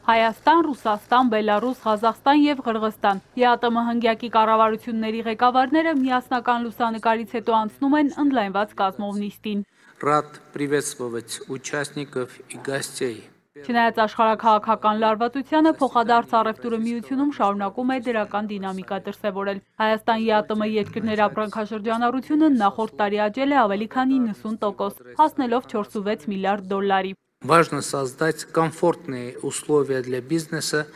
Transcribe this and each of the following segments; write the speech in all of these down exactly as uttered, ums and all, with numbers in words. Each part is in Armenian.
Հայաստան, Ռուսաստան, Բելարուս, Ղազախստան և Ղրղստան ԵԱՏՄ հնգյակի կառավարությունների ղեկավարները միասնական լուսանկարից հետո անցնում են ընդլայնված կազմով նիստին։ Рад приветствовать участников и гостей. Չնայած աշխարհաքաղաքական լարվածությանը, փոխադարձ առևտուրը միությունում շարունակում է դրական դինամիկա դրսևորել։ Հայաստան ԵԱՏՄ երկրների ապրանքաշրջանառությունը նախորդ տարի աճել է ավելի քան իննսուն տոկոս, հասնելով չորսունվեց միլիարդ դոլարի։ Важно создать комфортные условия для бизнеса.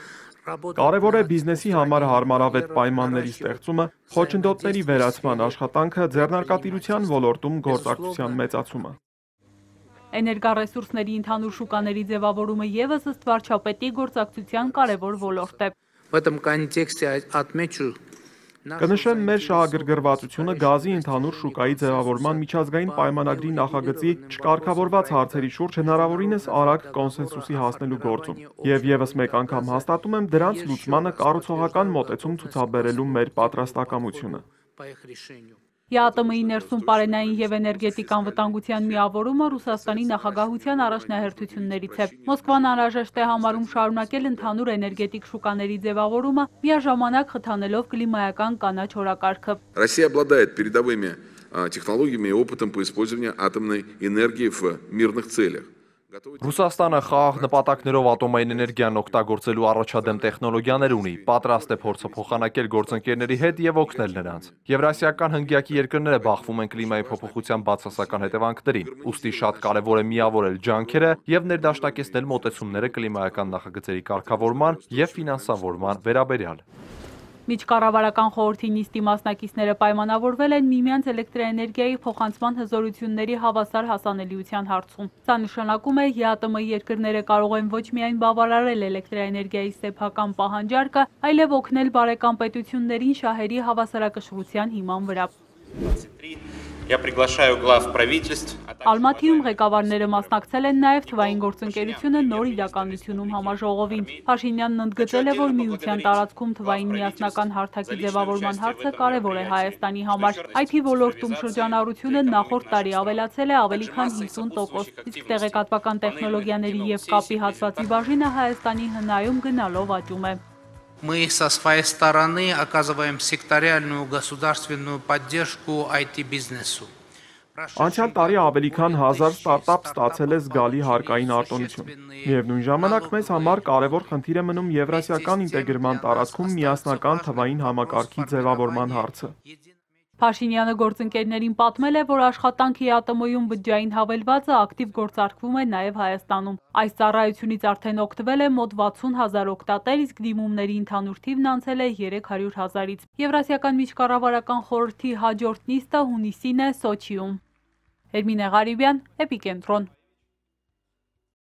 Կարևոր է բիզնեսի համար հարմարավետ պայմանների ստեղծումը, խոչընդոտների վերացման աշխատանքը, ձեռնարկատիրության ոլորտում գործակցության մեծացումը։ Էներգառեսուրսների ընդհանուր շուկաների ձևավորումը ևս ըստ վարչապետի գործակցության կարևոր ոլորտ է։ В этом контексте отмечу Կնշեմ մեր շահագրգռվածությունը գազի ընդհանուր շուկայի ձևավորման միջազգային պայմանագրի նախագծի չկարգավորված հարցերի շուրջ հնարավորինս արագ կոնսենսուսի հասնելու գործում։ Եվ ևս մեկ անգամ հաստատում եմ դրանց լուծմանը կառուցողական մոտեցում ցուցաբերելու մեր պատրաստակամությունը։ ԵԱՏՄ-ի ներսում պարենային և էներգետիկ անվտանգության միավորումը Ռուսաստանի նախագահության առաջնահերթություններից է։ Մոսկվան անհրաժեշտ է համարում շարունակել ընդհանուր էներգետիկ շուկաների ձևավորումը, միաժամանակ խթանելով կլիմայական կանաչ օրակարգը։ Россия обладает передовыми технологиями и опытом по использованию атомной энергии в мирных целях. Ռուսաստանը խաղաղ նպատակներով ատոմային էներգիան օգտագործելու առաջադեմ տեխնոլոգիաներ ունի, պատրաստ է փորձը փոխանակել գործընկերների հետ եւ օգնել նրանց։ Եվրասիական հնգյակի երկրները բախվում են կլիմայի փոփոխության բացասական հետևանքներին, ուստի շատ կարևոր է միավորել ջանքերը եւ ներդաշնակեցնել մոտեցումները կլիմայական նախագծերի կարգավորման եւ ֆինանսավորման վերաբերյալ։ Միջկառավարական խորհրդի նիստի մասնակիցները պայմանավորվել են միմյանց էլեկտրաէներգիայի փոխանցման հզորությունների հավասար հասանելիության հարցում։ Սա նշանակում է ԵԱՏՄ երկրները կարող են ոչ միայն բավարարել էլեկտրաէներգիայի սեփական պահանջարկը, այլև օգնել բարեկամ պետություններին շահերի հավասարակշռության հիման վրա։ Я приглашаю глав правительств. Ալմաթիում ղեկավարները մասնակցել են նաև թվային գործընկերությունը նոր իրականությունում համաժողովին։ Փաշինյանն ընդգծել է, որ միության տարածքում թվային միասնական հարթակի ձևավորման հարցը կարևոր է Հայաստանի համար։ Այ թի ոլորտում շրջանառությունը նախորդ տարի ավելացել է ավելի քան հինգսուն տոկոս, իսկ տեղեկատվական տեխնոլոգիաների և կապի հատվածի բաժինը Հայաստանի հնայում գնալով աճում է։ Мы со своей стороны оказываем секториальную государственную поддержку ай ти-бизнесу. Անցյալ տարի ավելի քան հազար ստարտափ ստացել է զգալի հարկային արտոնություն։ Միևնույն ժամանակ մեզ համար կարևոր խնդիր է մնում եվրասիական ինտեգրման տարածքում միասնական թվային համակարգի ձևավորման հարցը։ Փաշինյանը գործընկերներին պատմել է, որ աշխատանքի ԵԱՏՄ-ում բջջային հավելվածը ակտիվ գործարկվում է նաև Հայաստանում։ Այս ծառայությունից արդեն օգտվել է մոտ վաթսուն հազար օգտատեր, իսկ դիմումների ընդհանուր թիվն անցել է երեք հարյուր հազարից։ Եվրասիական միջկառավարական խորհրդի հաջորդ նիստը հունիսին է Սոչիում։ Էրմինե Ղարիբյան, Էպիկենտրոն։